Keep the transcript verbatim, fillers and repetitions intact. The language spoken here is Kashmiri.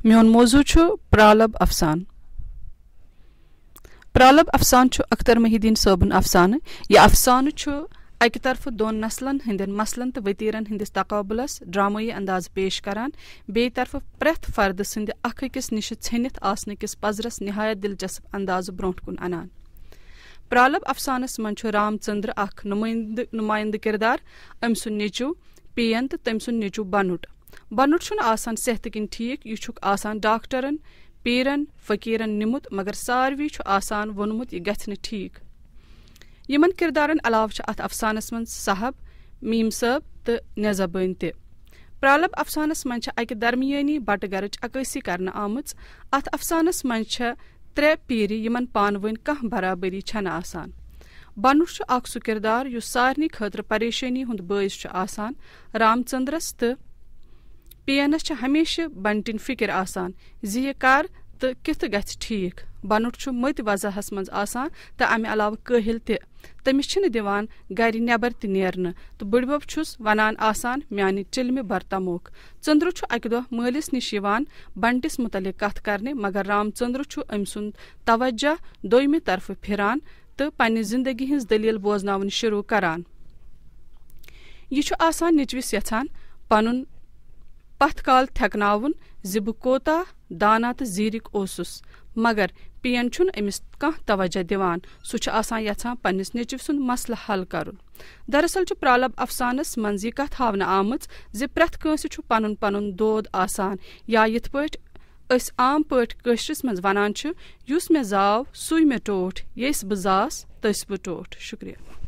میون موضوع چھُ پرالب افسان۔ پرالب افسان چھُ اختر محی الدین صٲبُن افسانہٕ۔ یہِ افسانہٕ چھُ اکہِ طرفہٕ دۄن نسلن ہٕنٛدٮ۪ن مسلن تہٕ وتیرن ہٕنٛدِس تقابلس ڈرامٲیی اندازٕ پیش کران، بیٚیہِ طرفہٕ پرٛٮ۪تھ فردٕ سٕنٛدِ اکھ أکِس نِشہِ ژھیٚنِتھ آسنہٕ کِس پزرس نہایت دلچسپ اندازٕ برونٛٹھ کُن انان۔ پرالب افسانس منٛز چھُ رام چندر اکھ نمٲیندٕ، نمٲیندٕ کردار، أمۍ سُنٛد نیٚچو پین تہٕ تٔمۍ سُنٛد نیٚچو بنُٹ۔ بنُٹ چھُنہٕ آسان صحتہٕ کِنۍ ٹھیٖک، یہِ چھُکھ آسان ڈاکٹرن، پیرن، فقیرن نِمُت، مگر ساروی چھُ آسان ووٚنمُت، یہِ گژھِ نہٕ ٹھیٖک۔ یِمن کردارن علاوٕ چھِ اتھ افسانس منٛز صاحب، میم صٲب تہٕ نظہ بٲنۍ تہِ۔ پرالب افسانس منٛز چھِ اکہِ درمیٲنی بٹہٕ گرٕچ عکٲسی کرنہٕ آمٕژ۔ اتھ افسانس منٛز چھےٚ ترٛےٚ پیرِ، یِمن پانہٕ ؤنۍ کانٛہہ برابری چھنہٕ آسان۔ بنُٹ چھُ اکھ سُہ کردار یُس سارنٕے خٲطرٕ پریشٲنی ہُنٛد بٲعث چھُ آسان۔ رام چندرس تہٕ پینس چھِ ہمیشہٕ بنٹٕنۍ فکر آسان زِ یہِ کر تہٕ کِتھ گژھِ ٹھیٖک۔ بنُٹ چھُ مٔتۍ وضعس منٛز آسان تہٕ امہِ علاوٕ کٲہِل تہِ۔ تٔمِس چھِنہٕ دِوان گرِ نٮ۪بر تہِ نیرنہٕ تہٕ بٕڈبب چھُس ونان آسان، میانہِ چِلمہِ بر تموکھ۔ چندرو چھُ اکہِ دۄہ مٲلِس نِش یِوان بنٹِس مُتعلق کتھ کرنہِ، مگر رام چندرو چھُ أمۍ سُنٛد توجہ دوٚیمہِ طرفہٕ پھِران تہٕ پننہِ زندگی ہٕنٛز دٔلیٖل بوزناوٕنۍ شروٗع کران۔ یہِ چھُ آسان نیٚچوِس یژھان پنُن پتھ کال تھٮ۪کناوُن زِ بہٕ کوتاہ دانا تہٕ زیٖرِک اوسُس، مگر پین چھُنہٕ أمِس کانٛہہ توجہ دِوان۔ سُہ چھُ آسان یژھان پننِس نیٚچوِ سُنٛد مسلہٕ حل کرُن۔ دراصل چھُ پرالب افسانس منٛز یہِ کتھ ہاونہٕ آمٕژ زِ پرٛٮ۪تھ کٲنٛسہِ چھُ پنُن پنُن دود آسان، یا یِتھ پٲٹھۍ أسۍ عام پٲٹھۍ کٲشرِس منٛز ونان چھِ، یُس مےٚ زاو، سُے مےٚ ٹوٹھ، ییٚس بہٕ زاس، تٔسۍ بہٕ ٹوٹھ۔ شُکریہ۔